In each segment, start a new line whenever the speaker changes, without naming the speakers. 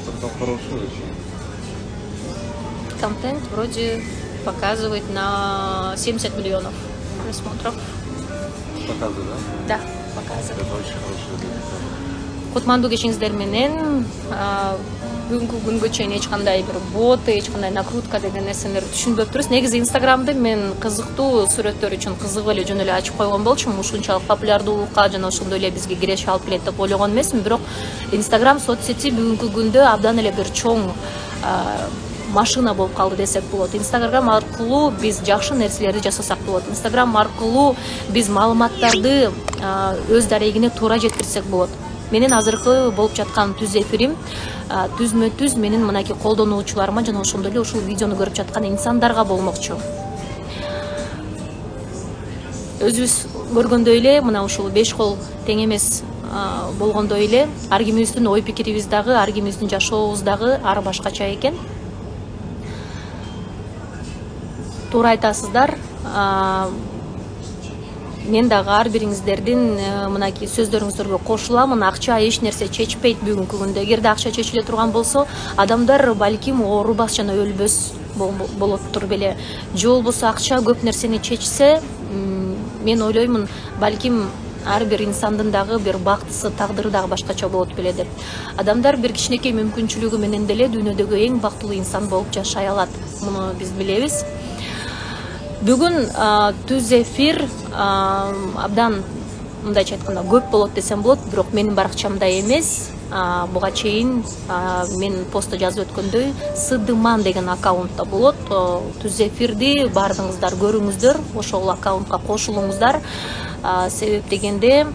просмотрдан хорошо очень.
Контент вроде показывает на 70 миллионов просмотров.
Показывает, да?
Да, показывает.
Это очень хорошо.
Кутмандуу кечиңиздер менен бүгүнкү күнгө чейин эч кандай бир бот, эч кандай накрутка деген нерселерди түшүнбөп турбуз. Негизи Инстаграмды мен кызыктуу сүрөттөр үчүн кызыгып эле жөн эле ачып койгон болчумун. Ушунчалык популярдуулукка жана ошондой эле бизге киреше алып келет деп ойлогон эмесмин. Бирок Инстаграм соцсети бүгүнкү күндө абдан эле бир чоң машина болуп калды десек болот. Инстаграм аркылуу биз жакшы нерселерди жасасак болот. Инстаграм аркылуу биз маалыматтарды өз дарегине туура жеткирсек болот. Менин азыркы болуп жаткан түз эфирим түзмө-түз менин мынакей колдонуучуларыма жана ошондой эле ушул видеону көрүп жаткан инсандарга болмокчу. Өзүбүз көргөндөй эле мына ушул 5 кол тең эмес болгондой эле ар кимибиздин ой пикирибиз дагы, ар кимибиздин жашообуз дагы ар башкача экен. Туура айтасыздар. Мен дагы ар бириңиздердин мынакей сөздөрүңүздөргө кошуламын. Акча эч нерсе чечпейт бүгүнкү күндө. Эгерде акча чечиле турган болсо, адамдар балким оорубас жана өлбөс болоттур беле. Же болбосо акча көп нерсени чечсе, мен ойлоймун, балким ар бир инсандын дагы бир бактысы, тагдыры дагы башкача болот беле деп. Адамдар бир кичинекей мүмкүнчүлүгү менен деле дүйнөдөгү эң бактылуу инсан болуп жашай алат. Муну биз билебиз. Бүгүн түз эфир абдан мындайча айтканда көп болот десем болот, бирок менин баракчамда эмес. Буга чейин мен постто жазып өткөндөй Сыдыман деген аккаунтта болот. Түз эфирди баардыгыңыздар көрүңүздөр, ошол аккаунтка кошулуңуздар. Себеп дегенде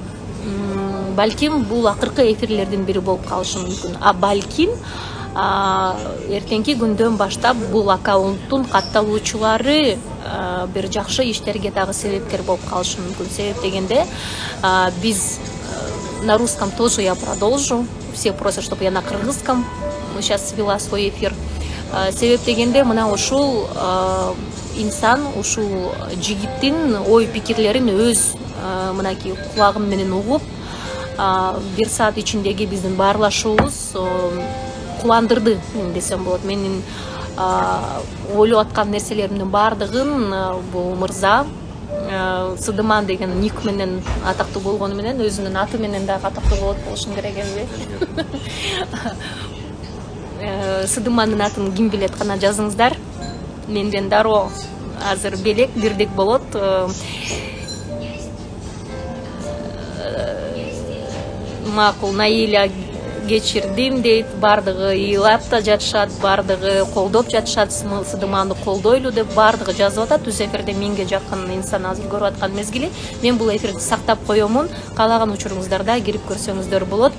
балким бул акыркы эфирлердин бири болуп калышы мүмкүн. Балким эртеңки күндөн баштап бул аккаунттун катталуучулары бир жакшы иштерге дагы себепкер болуп калышы мүмкүн. Себеп дегенде биз на русском тоже я продолжу. Все просят, чтобы я на кыргызском сейчас вела свой эфир. Себеп дегенде мына ушул инсан, ушул жигиттин ой пикирлерин өз мынакей кулагым менен угуп, бир саат ичиндеги биздин баарлашуубуз кубандырды десем болот. Менин ойлоп аткан нерселеримдин баардыгын бул мырза Сыдыман деген ник менен атактуу болгону менен өзүнүн аты менен дагы атактуу болот болушун керек эмби? Сыдымандын атын ким билет, кана жазыңыздар. Менден дароо азыр белек бирдик болот. Макул, Наиля кечирдим дейт, баардыгы ыйлап да жатышат, баардыгы колдоп жатышат, Сыдыманды колдойлу деп баардыгы жазып атат. Түз эфирде 1000ге жакын инсан азыр көрүп аткан мезгили. Мен бул эфирди сактап коёмун. Каалаган учуруңуздарда кирип көрсөңүздөр болот.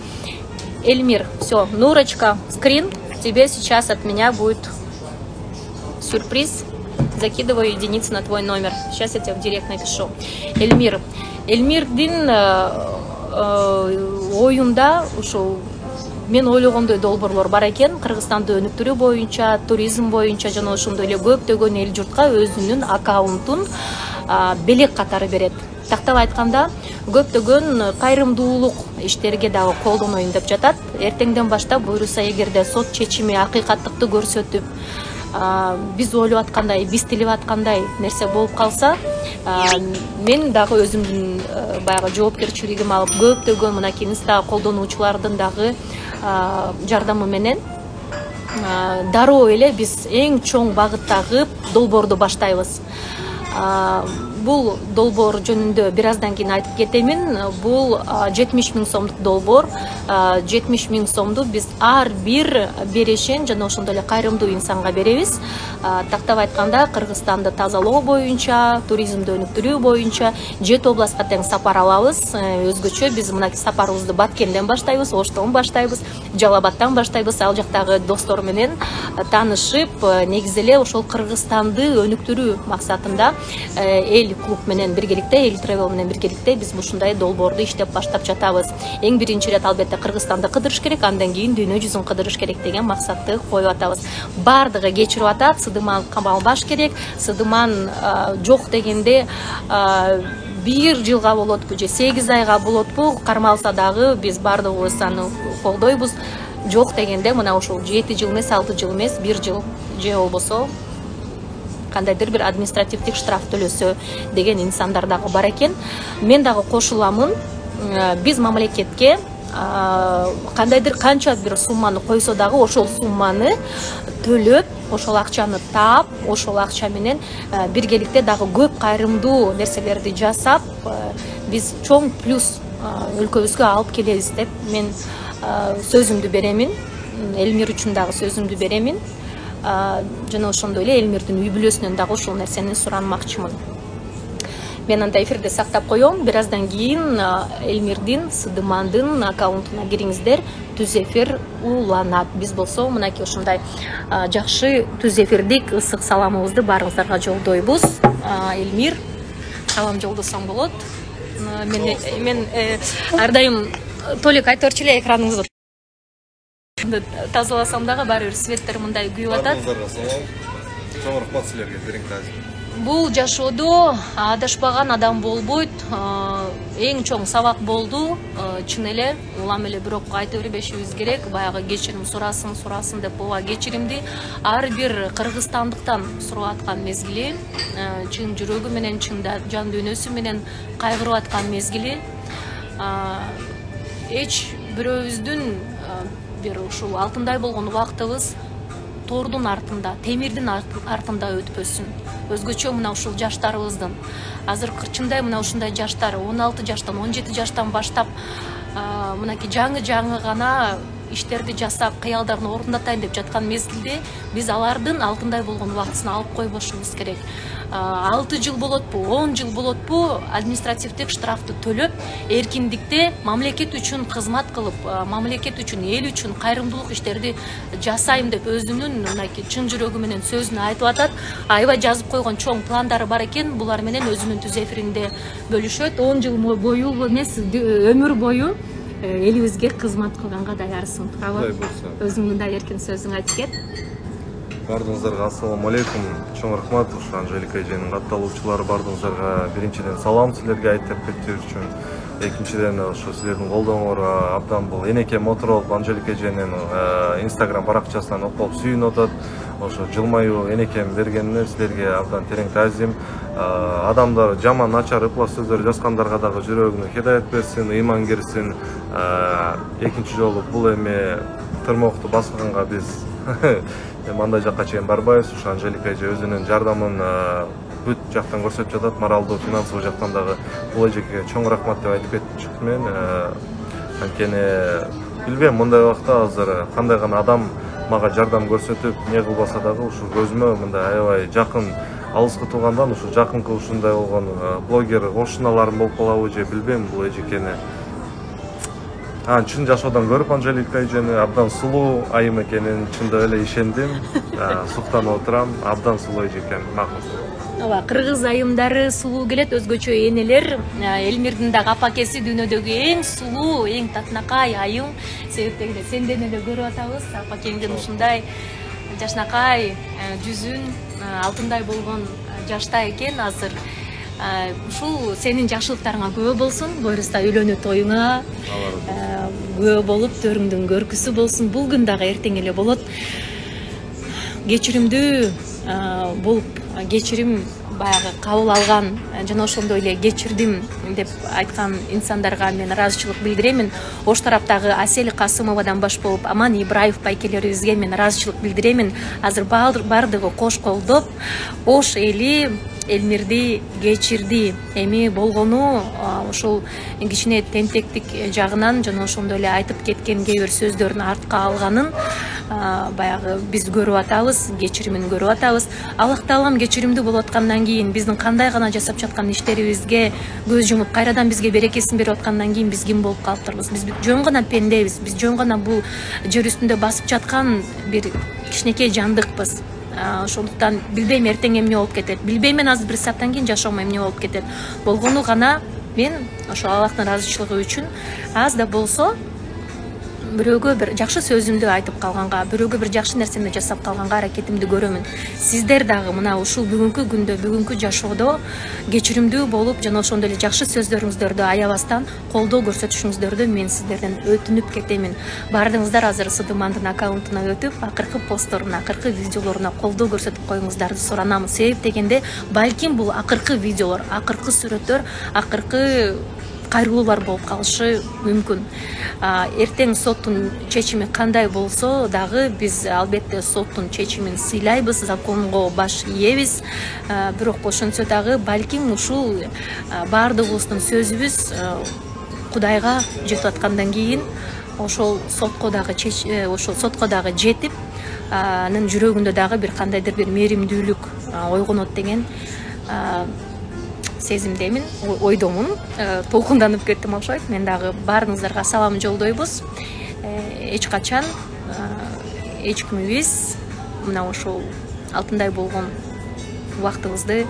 Эльмир, все, Нурочка, скрин, тебе сейчас от меня будет сюрприз. Закидываю единицы на твой номер. Сейчас я тебе в директ напишу. Эльмир. Эльмирдин оюнда ушул мен ойлогондой долбоорлор бар экен. Кыргызстанды өнүктүрүү боюнча, туризм боюнча жана ошондой эле көптөгөн эл журтка өзүнүн аккаунтун белек катары берет. Тактап айтканда, көптөгөн кайрымдуулук иштерге дагы колдоноюн деп жатат. Эртеңден баштап буйруса, эгерде сот чечими акыйкаттыкты көрсөтүп, биз ойлоп аткандай, биз тилеп аткандай нерсе болуп калса, мен дагы өзүмдүн баягы жоопкерчилигим алып, көптөгөн мынакей инста колдонуучулардын дагы жардамы менен дароо эле биз эң чоң багыттагы долбоорду баштайбыз. Бул долбоор жөнүндө бир аздан кийин айтып кетемин. Бул 70 000 сомдук долбоор. 70 000 сомду биз ар бир берешен жана ошондой эле кайрымдуу инсанга беребиз. Тактап айтканда, Кыргызстанды тазалоо боюнча, туризмди өнүктүрүү боюнча 7 областка тең сапар алабыз. Өзгөчө биз мына сапарыбызды Баткенден баштайбыз, Оштон баштайбыз, Жалал Абадтан баштайбыз. Ал жактагы достор менен таанышып, негизи эле ошол Кыргызстанды өнүктүрүү максатында эл клуб менен биргеликте, эл тревел менен биргеликте биз ушундай долбоорду иштеп баштап жатабыз. Эң биринчи ирет албетте Кыргызстанды кыдырыш керек, андан кийин дүйнө жүзүн кыдырыш керек деген максатты коюп атабыз. Бардыгы кечирип атат. Сыдыман камалбаш керек. Сыдыман жок дегенде 1 жылга болотпу же 8 айга болотпу, кармалса дагы биз бардыгыбыз аны колдойбуз. жок дегенде мына ушул 7 жыл эмес 6 жыл эмес 1 жыл же болбосо кандайдыр бир административдик штраф төлөсө деген инсандар дагы бар экен. Мен дагы кошуламын. Биз мамлекетке кандайдыр канча бир сумманы койсо дагы ошол сумманы төлөп, ошол акчаны таап, ошол акча менен биргеликте дагы көп кайрымдуу нерселерди жасап, биз чоң плюс өлкөбүзгө алып келебиз деп мен сөзүмдү беремин. Элмир үчүн дагы сөзүмдү беремин. Жана ошондой эле Элмирдин үй бүлөсүнөн дагы ушул нерсени суранмакчымын. Мен анда эфирде сактап коем. Бир аздан кийин Элмирдин, Сыдымандын аккаунтуна кириңиздер. Түз эфир уланат. Биз болсо мынакей ушундай жакшы түз эфирдик ысык саламыбызды баарыңыздарга жолдойбуз. Элмир, салам жолдосоң болот. Мен ар дайым Толик айтып берчү эле экраныңызды тазаласам дагы баары бир светтер мындай күйүп атат.
Чоң рахмат силерге, бериң таза.
Бул жашоодо адашпаган адам болбойт. Эң чоң сабак болду. Чын эле улам эле бирок айта бербешибиз керек. Баягы кечирим сурасын деп ооба кечиримди ар бир кыргызстандыктан сурап аткан мезгили, чын жүрөгү менен, чын жан дүйнөсү менен кайгырып аткан мезгили. Эч бирөөбүздүн бир ушул алтындай болгон убактыбыз тордун артында, темирдин артында өтпөсүн. Өзгөчө мына ушул жаштарыбыздын. Азыр кырчындай мына ушундай жаштар 16 жаштан, 17 жаштан баштап мынакей жаңы гана иштерди жасап, кыялдарын орундатайын деп жаткан мезгилде биз алардын алтындай болгон убактысын алып койбошубуз керек. 6 жыл болотпу, 10 жыл болотпу административдик штрафты төлөп, эркиндикте мамлекет үчүн кызмат кылып, мамлекет үчүн, эл үчүн кайрымдуулук иштерди жасайм деп өзүнүн мынакей чын жүрөгү менен сөзүн айтып атат. Аябай жазып койгон чоң пландары бар экен. Булар менен өзүнүн түз эфиринде бөлүшөт. 10 жыл бою эмес, өмүр бою элибизге кызмат кылганга даярсың. Туурабы? Өзүң мындай эркин сөзүң айтып кет.
Бардыңыздарга ассаламу алейкум. Чоң рахмат ушу Анжелика эженин катталуучулары бардыңыздарга биринчиден салам силерге айтып кетүү үчүн. Экинчиден ошо силердин колдооңорго абдан бул энеке Моторолуп Анжелика эженин Instagram баракчасынан окуп сүйүнүп атат. Ошо жылмаюу энекем бергенине силерге абдан терең таазим. Адамдар жаман начар ыплас сөздөр жазгандарга дагы жүрөгүнө хидаят берсин, ыйман кирсин. Экинчи жолу бул эме тырмокту басканга биз мындай жакка чейин барбайбыз. Ушу Анжелика эже өзүнүн жардамын бүт жактан көрсөтүп жатат, моралдуу, финансылык жактан дагы. Бул эжеге чоң рахмат деп айтып кетчүмүн мен. Анткени билбейм, мындай убакта азыр кандай гана адам мага жардам көрсөтүп, не кылбаса дагы ушу көзүмө мындай аябай жакын, алыскы туугандан ушу жакынкы ушундай болгон блогер кошуналарым болуп калабы же билбейм бул эжекени. Чын жашоодан көрүп Анжелика эжени абдан сулуу айым экенин чындап эле ишендим. Суктанып отурам, абдан сулуу эже экен, макул.
Ооба, кыргыз айымдары сулуу келет, өзгөчө энелер. Элмирдин дагы апакеси дүйнөдөгү эң сулуу, эң татынакай айым. Себептеги сенден эле көрүп атабыз. Апакеңдин ушундай жашнакай жүзүн алтындай болгон жашта экен азыр. Ушул сенин жакшылыктарыңа күбө болсун, буюрса үйлөнүү тоюңа күбө болуп төрүңдүн көркүсү болсун. Бул күн дагы эртең эле болот. Кечиримдүү болуп, кечирим баягы кабыл алган жана ошондой эле кечирдим деп айткан инсандарга мен ыраазычылык билдиремин. Ош тараптагы Асель Касымовадан баш болуп Аман Ибраев байкелерибизге мен ыраазычылык билдиремин. Азыр бардыгы кош колдоп, Ош эли Элмирди кечирди. Эми болгону ошол кичине тентектик жагынан жана ошондой эле айтып кеткен кээ бир сөздөрүн артка алганын баягы биз көрүп атабыз, кечиримин көрүп атабыз. Аллах Таалам кечиримдүү болуп аткандан кийин биздин кандай гана жасап жаткан иштерибизге көз жумуп кайрадан бизге берекесин берип аткандан кийин биз ким болуп калыптырбыз? Биз жөн гана пендебиз, биз жөн гана бул жер үстүндө басып жаткан бир кичинекей жандыкпыз. Ошондуктан билбейм эртең эмне болуп кетет. Билбейм мен азыр бир сааттан кийин жашоом эмне болуп кетет. Болгону гана мен ошо Аллахтын ыраазычылыгы үчүн аз да болсо бирөөгө бир жакшы сөзүмдү айтып калганга, бирөөгө бир жакшы нерсени жасап калганга аракетимди көрөмүн. Сиздер дагы мына ушул бүгүнкү күндө, бүгүнкү жашоодо кечиримдүү болуп, жана ошондой эле жакшы сөздөрүңүздөрдү аябастан колдоо көрсөтүшүңүздөрдү мен сиздерден өтүнүп кетемин. Баардыгыңыздар азыр Сыдымандын аккаунтуна өтүп, акыркы постторуна, акыркы видеолоруна колдоо көрсөтүп коюңуздарды суранам. Себеп дегенде, балким бул акыркы видеолор, акыркы сүрөттөр, акыркы кайрылуулар болуп калышы мүмкүн. Эртең соттун чечими кандай болсо дагы биз албетте соттун чечимин сыйлайбыз, законго баш ийебиз. Бирок ошентсе дагы балким ушул баардыгыбыздын сөзүбүз Кудайга жетип аткандан кийин ошол сотко дагы жетип, анын жүрөгүндө дагы бир кандайдыр бир мээримдүүлүк ойгонот деген сезимдемин, ойдомун. Толкунданып кеттим окшойт. Мен дагы баарыңыздарга салам жолдойбуз. Эч качан эч кимибиз мына ошол алтындай болгон убактыбызды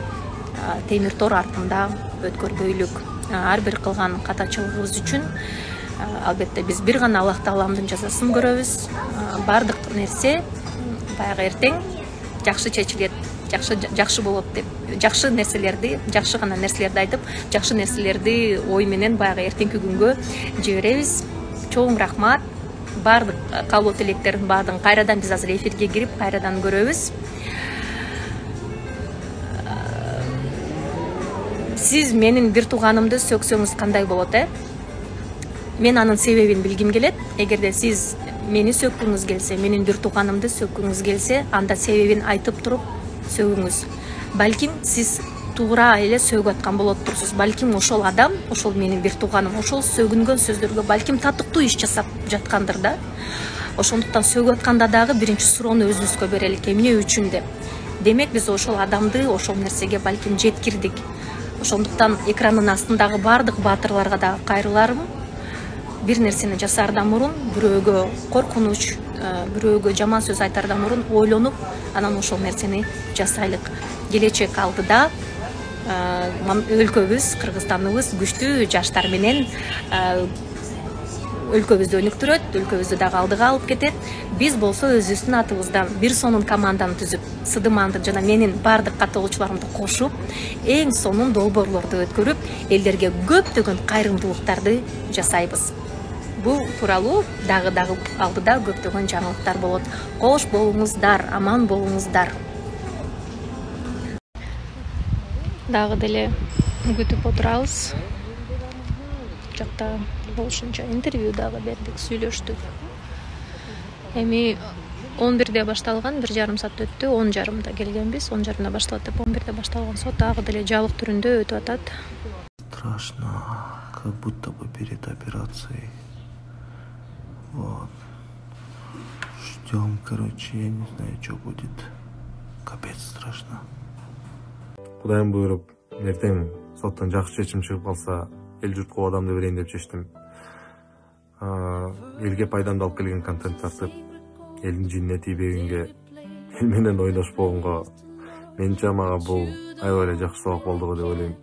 темир тор артында өткөрбөйлүк. Ар бир кылган катачылыгыбыз үчүн албетте биз бир гана Аллах Тааламдын жазасын көрөбүз. Бардык нерсе баягы эртең жакшы чечилет, жакшы болот деп, жакшы гана нерселерди айтып, жакшы нерселерди ой менен баягы эртеңки күнгө жиберебиз. Чоң рахмат. Бардык каалоо тилектердин баардыгын кайрадан биз азыр эфирге кирип кайрадан көрөбүз. Сиз менин бир тууганымды сөксөңүз кандай болот, Мен анын себебин билгим келет. Эгерде сиз мени сөккүңүз келсе, менин бир тууганымды сөккүңүз келсе, анда себебин айтып туруп сөгүңүз. Балким сиз туура эле сөгүп аткан болоттурсуз. Балким ошол адам, ошол менин бир тууганым, ошол сөгүнгөн сөздөргө балким татыктуу иш жасап жаткандыр да. Ошондуктан сөгүп атканда дагы биринчи суроону өзүбүзгө берелик, эмне үчүн деп. Демек биз ошол адамды ошол нерсеге балким жеткирдик. Ошондуктан экрандын астындагы баардык баатырларга дагы кайрыларым. Бир нерсени жасаардан мурун, бирөөгө коркунуч, бирөөгө жаман сөз айтаардан мурун ойлонуп, анан ошол нерсени жасайлык. Келечек алдыда өлкөбүз, Кыргызстаныбыз күчтүү жаштар менен өлкөбүздү өнүктүрөт, өлкөбүздү дагы алдыга алып кетет. Биз болсо өзүбүздүн атыбыздан бир сонун команданы түзүп, Сыдыманды жана менин баардык каттоолучуларымды кошуп, эң сонун долбоорлорду өткөрүп, элдерге көптөгөн кайрымдуулуктарды жасайбыз. Бул тууралуу дагы алдыда көптөгөн жаңылыктар болот. Кош болуңуздар, аман болуңуздар. Дагы деле күтүп отурабыз. Жакта болушунча интервью дагы бердик, сүйлөштүк. Эми 11-де башталган, 1,5 саат өттү, 10:30 келгенбиз. 10:30 башталат деп 11-де башталган сот дагы деле жабык түрүндө өтүп атат.
Страшно, как будто бы перед операцией. Вот. Ждем, короче, я не знаю, что будет. Капец страшно. Кудайым буйруп, эртең соттон жакшы чечим чыгып калса, эл журтка абадамды берейин деп чечтим. Элге пайдамды алып келген контент тартып, элдин жинине тийбегенге, эл менен ойношпогонго, менче мага бул аябай эле жакшы сабак болду деп ойлойм.